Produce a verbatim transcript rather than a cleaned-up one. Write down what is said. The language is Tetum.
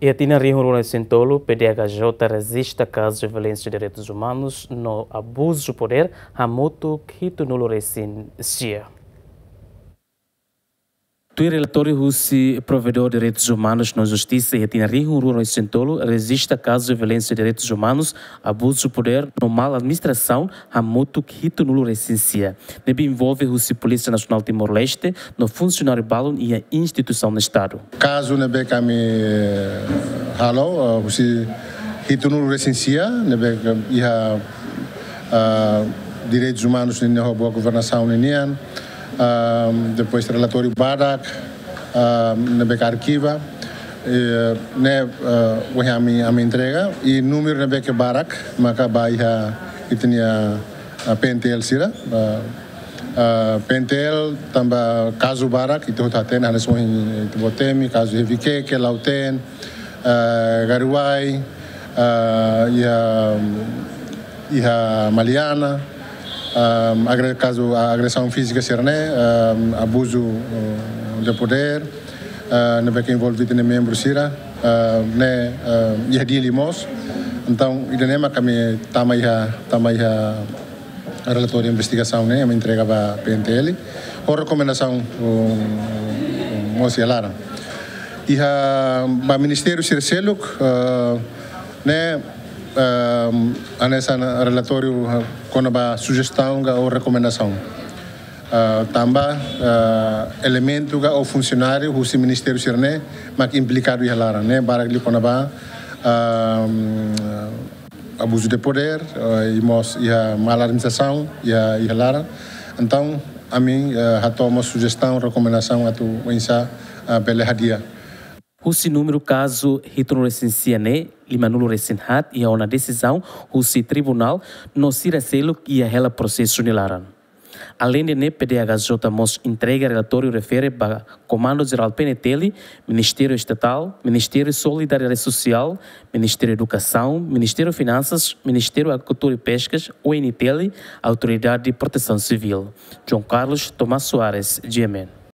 Iha tinan rihun rua ruanulu-resin-tolu, P D H J rejista kazu violénsia direitus umanus no abuzu podér hamutuk hitunulu-resin-sia. Tuir relatóriu husi Provedór Direitus Umanus no Justisa, iha tinan rihun rua ruanulu-resin-tolu rejista kazu violénsia direitus umanus, abuzu podér no mal administrasaun hamutuk hitunulu-resin-sia, ne'ebé envolve husi Polísia Nasionál Timor-Leste no funsionáriu balun iha instituisaun Estadu. Kazu ne'ebé ami, eh, halo, eh, husi hitunulu-resin-sia, ne'ebé iha, ah, direitus umanus nian ho boa governasaun nian, ah, depois relatóriu badak, ah, ne'ebé arkiva, eh, ne'e, ah, ohin ami, ami entrega, i númeru ne'ebé barak, maka ba iha ita-nia, ah, P N T L sira, ah, ah, P N T L tanba kazu barak, ita hotu hatene, hanesan ohin ita-boot temi, kazu iha Viqueque, Lautém, ah, Garoua, ah, iha, iha Maliana, ah, agre-, kazu, ah, agresaun fízika sira-ne'e, ah, abuzu, ah, de podér, ah, ne'ebé envolve ita-nia membru sira, ah, ne'e, ah, iha Dili mós. Entaun, ida-ne'e mak ami tama iha, tama iha relatóriu investigasaun ne'e, ami entrega ba P N T L, ho rekomendasaun, um, mós iha laran. Iha ba ministériu sira seluk, eh, ne'e, eh, hanesan relatóriu, eh, kona-ba sujestaun ka ou rekomendasaun. Eh, tanba, eh, elementu ka ou funsionáriu husi ministériu sira-ne'e mak implikadu iha laran, ne'e barak liu kona-ba, eh, abuzu de podér, eh, i mós iha mal administrasaun, iha, iha laran. Entaun, ami, eh, hato'o mós sujestaun, rekomendasaun atu oinsá, eh, bele hadi'a. Husi númeru kazu hitunulu-resin-sia ne'e, limanulu-resin-haat iha ona desizaun husi tribunál no sira seluk iha hela prosesu nia laran. Aleinde ne'e, P D H J mós entrega relatóriu refere ba Komandu Jerál P N T L, Ministériu Estatál, Ministériu Solidariedade Sosiál, Ministériu Edukasaun, Ministériu Finansas, Ministériu Agrikultura i Peskas, O N T L, Autoridade Protesaun Sivíl. João Carlos Tomás Soares, G M N.